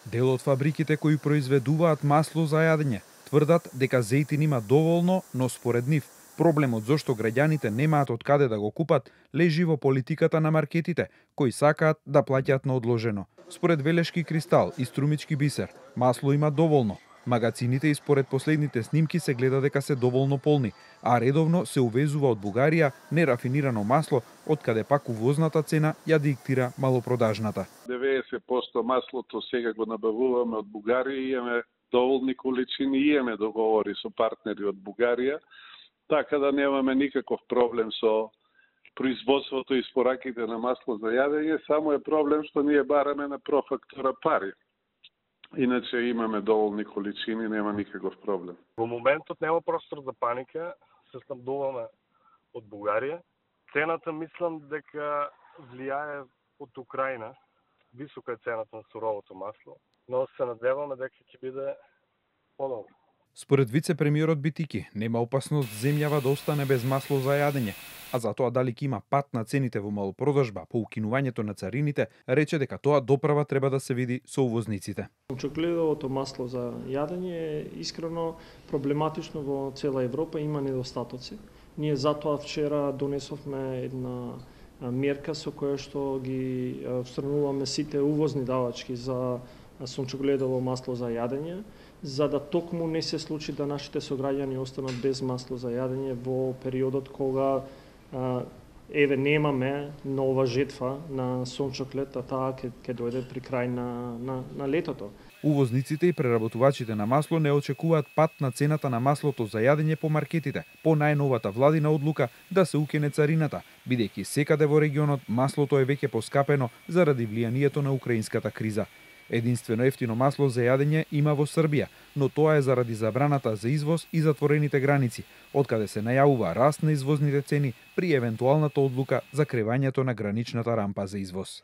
Дел од фабриките кои произведуваат масло за јадење тврдат дека зејтин има доволно, но според нив проблемот зошто граѓаните немаат од каде да го купат лежи во политиката на маркетите, кои сакаат да плаќаат на одложено. Според Велешки кристал и Струмички бисер, масло има доволно. Магацините и според последните снимки се гледа дека се доволно полни, а редовно се увезува од Бугарија нерафинирано масло, од каде пак увозната цена ја диктира малопродажната. 90% маслото сега го набавуваме од Бугарија и имаме доволни количини и имаме договори со партнери од Бугарија, така да немаме никаков проблем со производството и спораките на масло за јадење, само е проблем што ние бараме на профактура пари. Иначе имаме доволни количини, нема никаков проблем. Во моментот нема простор за паника, се снабдуваме од Бугарија. Цената мислам дека влијае од Украина. Висока е цената на суровото масло, но се надеваме дека ќе биде подобро. Според вице-премиерот Битики, нема опасност земјава да остане без масло за јадење, а за тоа дали ќе има пат на цените во малопродажба по укинувањето на царините, рече дека тоа доправа треба да се види со увозниците. Сончогледовото масло за јадење е искрено проблематично во цела Европа, има недостатоци. Ние затоа вчера донесовме една мерка со која што ги отстрануваме сите увозни давачки за сончогледово масло за јадење, за да токму не се случи да нашите сограѓани останат без масло за јадење во периодот кога немаме нова жетва на сончоглед, а таа ќе дојде при крај на летото. Увозниците и преработувачите на масло не очекуваат пат на цената на маслото за јадење по маркетите, по најновата владина одлука да се укине царината, бидејќи секаде во регионот маслото е веќе поскапено заради влијанието на украинската криза. Единствено ефтино масло за јадење има во Србија, но тоа е заради забраната за извоз и затворените граници, откаде се најавува раст на извозните цени при евентуалната одлука за кревањето на граничната рампа за извоз.